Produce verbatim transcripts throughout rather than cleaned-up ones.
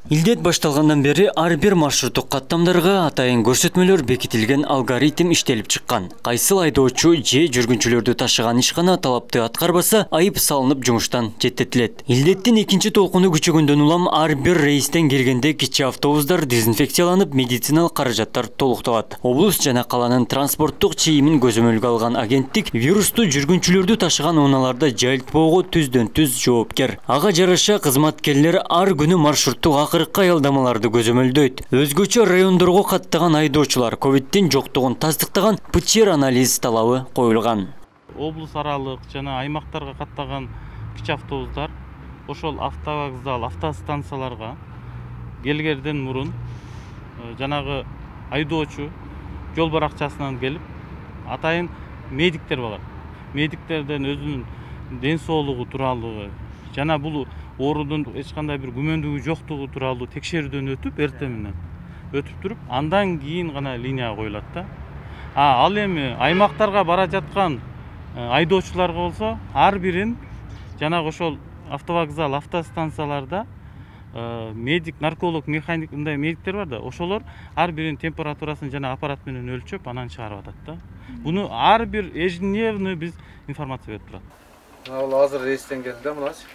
Илдет башталгандан бери ар бир маршруттук каттамдарга атайын көрсөтмөлөр бекитилген алгоритм иштелип чыккан. Кайсыл айдоочу же жүргүнчүлөрдү ташыган ишкана талапты аткарбаса, айып салынып жумуштан четтетилет. Илдеттин экинчи толкуну күчөгөндөн улам ар бир рейстен келгенде кичи автобустар дезинфекцияланып, медициналык каражаттар толукталат. Облус жана каланын транспорттук чейимин көзөмөлгө алган агенттик вирусту жүргүнчүлөрдү ташыган унааларда жайылтпоого түздөн түз жоопкер. Ага жараша кызматкерлер ар күнү маршруттук аялдамаларды көзөмөлдөйт. Өзгөчө райондорго каттаган айдоочулар ковидтин жоктугун тастыктаган ПЧР анализ талабы коюлган. Облус аралык жана аймактарга каттаган кичи автобустар ошол автовокзал, автостанцияларга келгенден мурун жанагы айдоочу жол баракчасынан келип, атайын медиктер бар. Медиктерден өзүнүн ден соолугу тууралуу жана бул оорудун эч кандай бир күмөндүгү жоктугу тууралуу текшерүүдөн өтүп, эртең менен өтүп туруп, андан кийин гана линияга коюлат да. А ал эми аймактарга бара жаткан айдоочуларга болсо, ар бирин жанагы ошол автовокзал, автостанцияларда медик, нарколог, механик мындай медиктер бар да, ошолор ар биринин температурасын жана аппарат менен өлчөп, анан чыгарып атат да. Буну ар бир ежедневный биз информация берип турат. Мына азыр рейстен келди да, мыначы.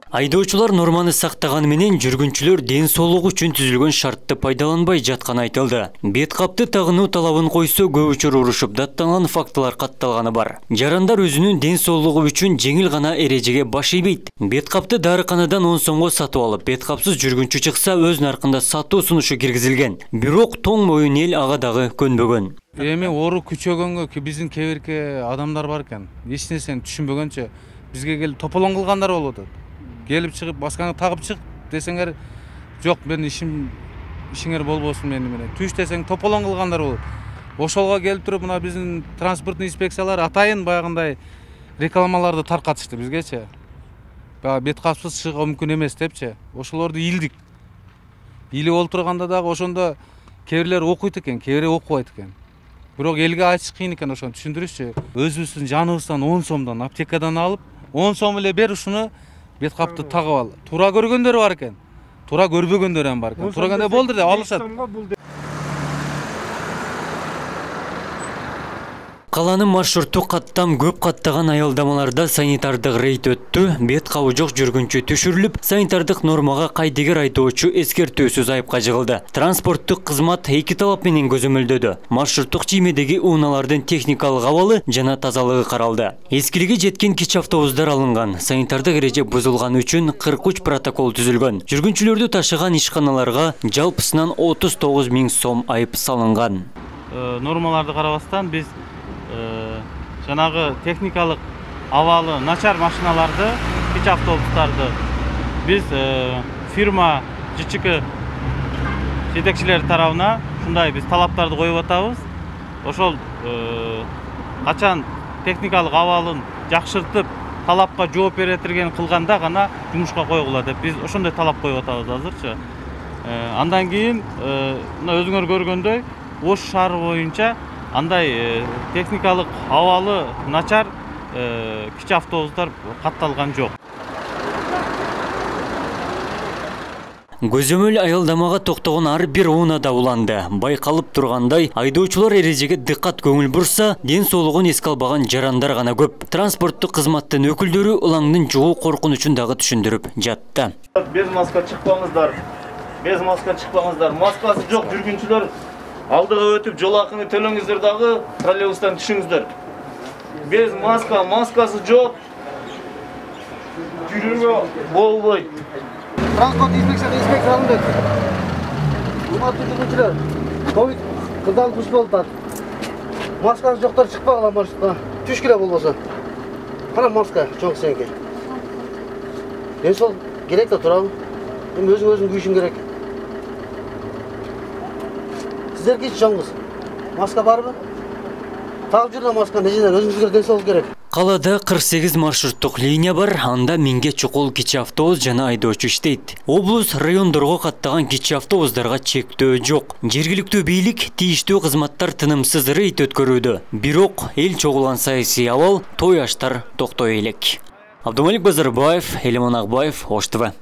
Айдоочулар норманы сактаганы менен жүргүнчүлөр ден соолугу үчүн түзүлгөн шартты пайдаланбай жатканы айтылды. Бет капты тагынуу талабын койсо, көп учур урушуп даттанган фактылар катталганы бар. Жарандар өзүнүн ден соолугу үчүн жеңил гана эрежеге баш ийбейт. Бет капты дарыканадан он сомго сатып алып, бет капсыз жүргүнчү чыкса, өз наркында сатуу сунушу киргизилген. Бирок тоң моюн эл ага дагы көнбөгөн. Эми оору күчөгөнгө биздин кээ бирки адамдар бар экен. Эч нерсени түшүнбөгөнчө бизге келип тополоң кылгандар болуп атат. Келип чыгып, маскаңды тагып чык десеңер, жок, мен ишим ишиңер болбосун мени менен. Түш десең тополоң кылгандар болот. Ошолго келип туруп, мына биздин транспорттун инспекциялар атайын баягындай рекламаларды таркатышты бизгечи. Бага бет капсыз чыгуу мүмкүн эмес депчи. Ошолорду илдик. Илип олтурганда дагы ошондо кээ бирлер окуйт экен, кээ бири окубайт экен. Бирок элге айтыш кыйын экен, ошону түшүндүрүшчү. Өзүбүздүн жаныбыздан он сомдон аптекадан алып, он сом эле бер ушуну бет капты тагып ал. Туура көргөндөр бар экен. Туура көрбөгөндөр ham бар экен. Туура кандай болду деп алышат. Каланын маршруттук каттам көп каттаган аялдамаларда санитардык рейд өттү. Бет кабы жок жүргүнчү түшүрүлүп, санитардык нормага кайдыгер айдоочу эскертүүсүз айыпка жыгылды. Транспорттук кызмат эки талап менен көзөмөлдөдү. Маршруттук чиймедеги унаалардын техникалык абалы жана тазалыгы каралды. Эскилиги жеткен кичи автобустар алынган. Санитардык эреже бузулганы үчүн кырк үч протокол түзүлгөн. Жүргүнчүлөрдү ташыган ишканаларга жалпысынан отуз тогуз миң сом айып салынган. Нормаларды карабастан биз жанагы техникалык абалы начар машиналарды, кичи автобустарды биз фирма ЖЧК жетекчилери тарабына ушундай биз талаптарды коюп атабыз. Ошол качан техникалык абалын жакшыртып, талапка жооп беретирген кылганда гана жумушка койгула деп биз ошондой талап коюп атабыз азырчы. Андан кийин мына өзүңөр көргөндөй Ош шаары боюнча андай техникалык абалы начар кичи автобустар катталган жок. Көзөмөл аялдамага токтогон ар бир унаада уланды. Байкалып тургандай, айдоочулар эрежеге дыккат көңүл бурса, ден соолугун эске албаган жарандар гана көп. Транспорттук кызматтын өкүлдөрү улаңдын жугуу коркунучун дагы түшүндүрүп жатты. Без маска чыкпаңыздар. Без маска чыкпаңыздар. Маскасы жок жүргүнчүлөр алдыга өтүп, жол акыны төлөңүздөр дагы, троллейбустан түшүңүздөр. Без маска, маскасы жок. Жүрүүгө болбойт. Транспорт инспекциясы инспекция алынды. Урматтуу жүргүнчүлөр, ковид кырдаалгыч болуп атат. Маскасы жоктор чыкпагыла маршрутка. Түшкүлө болбосо. Кана маска чоң сеңке. Мен сол керек да турабы. Эми өзүң өзүң күйүшүң керек. Сиздерге чоңуз. Маска барбы? Тагып жүргөн маска нежеден өзүңүзгө ден соолук керек. Калада кырк сегиз маршруттук линия бар, анда миңге чукул кичи автобус жана айдоочу иштейт. Облус райондорго каттаган кичи автобустарга чектөө жок. Жергиликтүү бийлик тийиштүү кызматтар тынымсыз рейд өткөрүүдө. Бирок эл чогулган саясий абал той аштар токтой элек. Абдумалик Базарбаев, Элимон Акбаев, Ош ТВ.